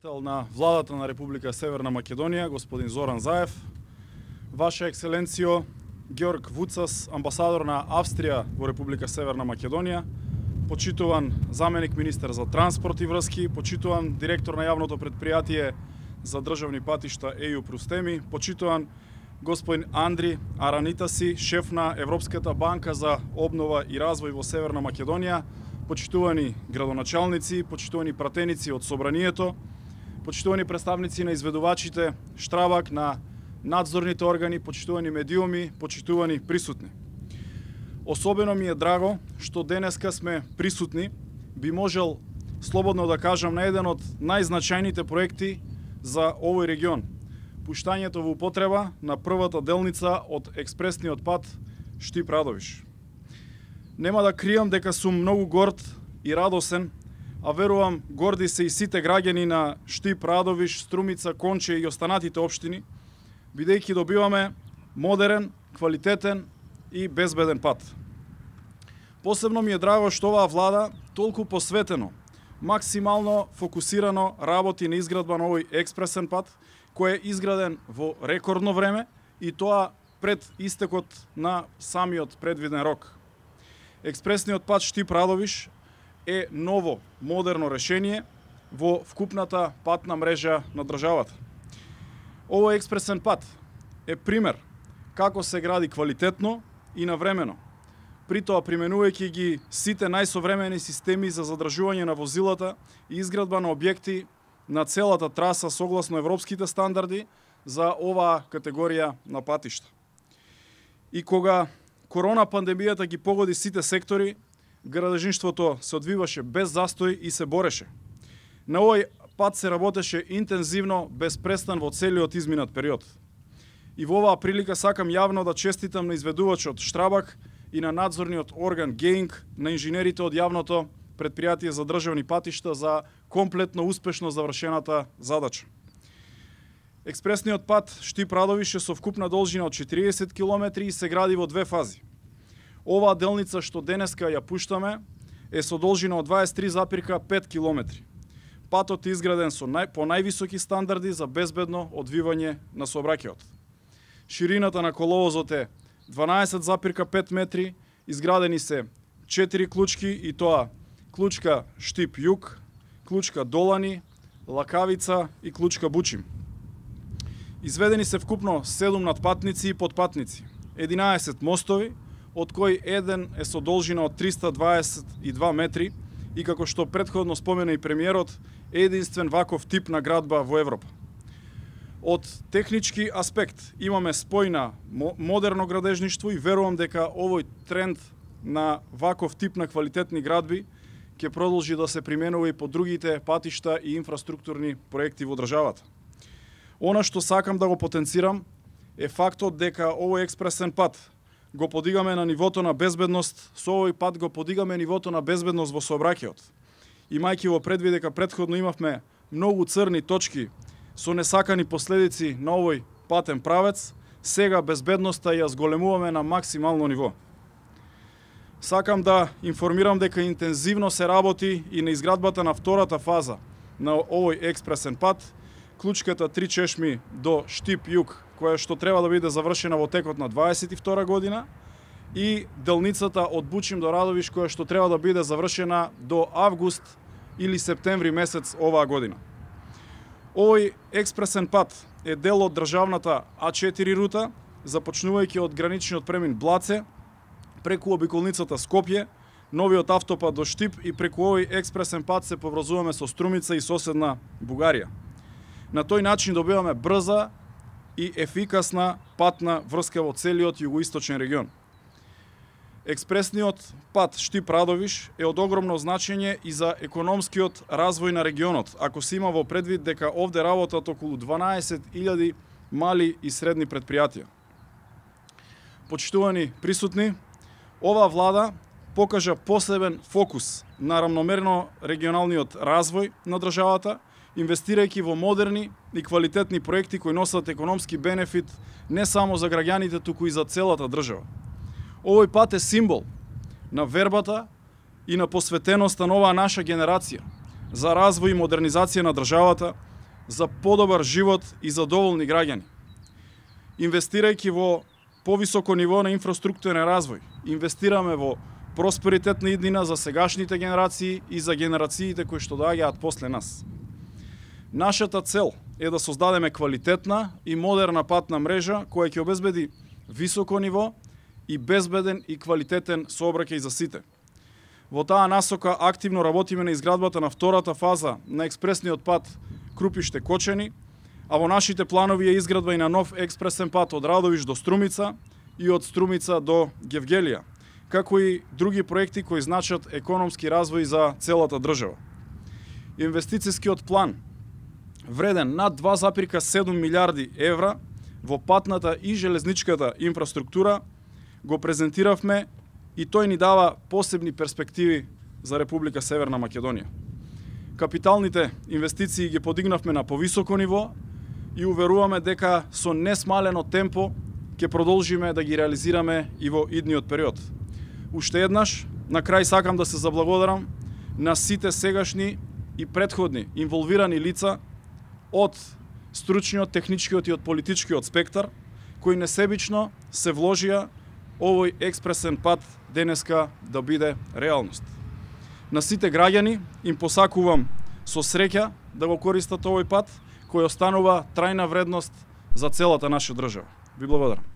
На владата на Република Северна Македонија, господин Зоран Заев, Ваша екселенцијо Георг Вуцас, амбасадор на Австрија во Република Северна Македонија, почитуван заменик министер за транспорт и врски, почитуван директор на јавното предпријатие за државни патишта ЕУ Прустеми, почитуван господин Андри Аранитаси, шеф на Европската банка за обнова и развој во Северна Македонија, почитувани градоначалници, почитувани пратеници од Собранието, почитувани представници на изведувачите Штрабак, на надзорните органи, почитувани медиуми, почитувани присутни. Особено ми е драго што денеска сме присутни, би можел слободно да кажам, на еден од најзначајните проекти за овој регион. Пуштањето во употреба на првата делница од експресниот пат Штип-Радовиш. Нема да кријам дека сум многу горд и радосен, а верувам горди се и сите граѓани на Штип, Радовиш, Струмица, Конче и останатите општини, бидејќи добиваме модерен, квалитетен и безбеден пат. Посебно ми е драго што оваа влада толку посветено, максимално фокусирано работи на изградба на овој експресен пат, кој е изграден во рекордно време и тоа пред истекот на самиот предвиден рок. Експресниот пат Штип-Радовиш е ново, модерно решение во вкупната патна мрежа на државата. Овој експресен пат е пример како се гради квалитетно и навремено, при тоа применувајќи ги сите најсовремени системи за задржување на возилата и изградба на објекти на целата траса согласно европските стандарди за оваа категорија на патишта. И кога корона пандемијата ги погоди сите сектори, градежништвото се одвиваше без застој и се бореше. На овој пат се работеше интензивно, без престан во целиот изминат период. И во оваа прилика сакам јавно да честитам на изведувачот Штрабак и на надзорниот орган ГЕИНГ, на инженерите од јавното предпријатие за државни патишта за комплетно успешно завршената задача. Експресниот пат Штип-Радовиш е со вкупна должина од 40 км и се гради во две фази. Оваа делница што денеска ја пуштаме е со должина од 23,5 км. Патот е изграден по највисоки стандарди за безбедно одвивање на сообраќајот. Ширината на коловозот е 12,5 метри, изградени се 4 клучки и тоа клучка Штип-Југ, клучка Долани, Лакавица и клучка Бучим. Изведени се вкупно 7 надпатници и подпатници, 11 мостови, од кој еден е со должина од 322 метри и како што претходно спомена и премиерот, е единствен ваков тип на градба во Европа. Од технички аспект имаме спој на модерно градежништво и верувам дека овој тренд на ваков тип на квалитетни градби ќе продолжи да се применува и по другите патишта и инфраструктурни проекти во државата. Она што сакам да го потенцирам е фактот дека овој експресен пат го подигаме на нивото на безбедност, со овој пат го подигаме нивото на безбедност во сообраќајот. Имајќи во предвид дека претходно имавме многу црни точки со несакани последици на овој патен правец, сега безбедноста ја зголемуваме на максимално ниво. Сакам да информирам дека интензивно се работи и на изградбата на втората фаза на овој експресен пат, клучката Три чешми до Штип-Југ, која што треба да биде завршена во текот на 22 година, и делницата од Бучим до Радовиш, која што треба да биде завршена до август или септември месец оваа година. Овој експресен пат е дел од државната А4 рута, започнувајќи од граничниот премин Блаце, преку обиколницата Скопје, новиот автопат до Штип и преку овој експресен пат се поврзуваме со Струмица и соседна Бугарија. На тој начин добиваме брза и ефикасна патна врска во целиот југоисточен регион. Експресниот пат Штип-Радовиш е од огромно значење и за економскиот развој на регионот, ако се има во предвид дека овде работат околу 12.000 мали и средни предпријатија. Почитувани присутни, оваа влада покажа посебен фокус на рамномерно регионалниот развој на државата, инвестирајќи во модерни и квалитетни проекти кои носат економски бенефит не само за граѓаните, туку и за целата држава. Овој пат е символ на вербата и на посветеноста на оваа наша генерација за развој и модернизација на државата, за подобар живот и задоволни граѓани. Инвестирајќи во повисоко ниво на инфраструктурен развој, инвестираме во просперитетна иднина за сегашните генерации и за генерациите кои што доаѓаат после нас. Нашата цел е да создадеме квалитетна и модерна патна мрежа која ќе обезбеди високо ниво и безбеден и квалитетен сообраќај за сите. Во таа насока активно работиме на изградбата на втората фаза на експресниот пат Крупиште-Кочани, а во нашите планови е изградба и на нов експресен пат од Радовиш до Струмица и од Струмица до Гевгелија, како и други проекти кои значат економски развој за целата држава. Инвестицијскиот план, вреден над 2,7 милиарди евра во патната и железничката инфраструктура, го презентиравме и тој ни дава посебни перспективи за Република Северна Македонија. Капиталните инвестиции ги подигнавме на повисоко ниво и уверуваме дека со несмалено темпо ќе продолжиме да ги реализираме и во идниот период. Уште еднаш, на крај сакам да се заблагодарам на сите сегашни и претходни инволвирани лица од стручниот, техничкиот и од политичкиот спектар, кои несебично се вложија овој експресен пат денеска да биде реалност. На сите граѓани им посакувам со среќа да го користат овој пат, кој останува трајна вредност за целата наша држава. Ви благодарам.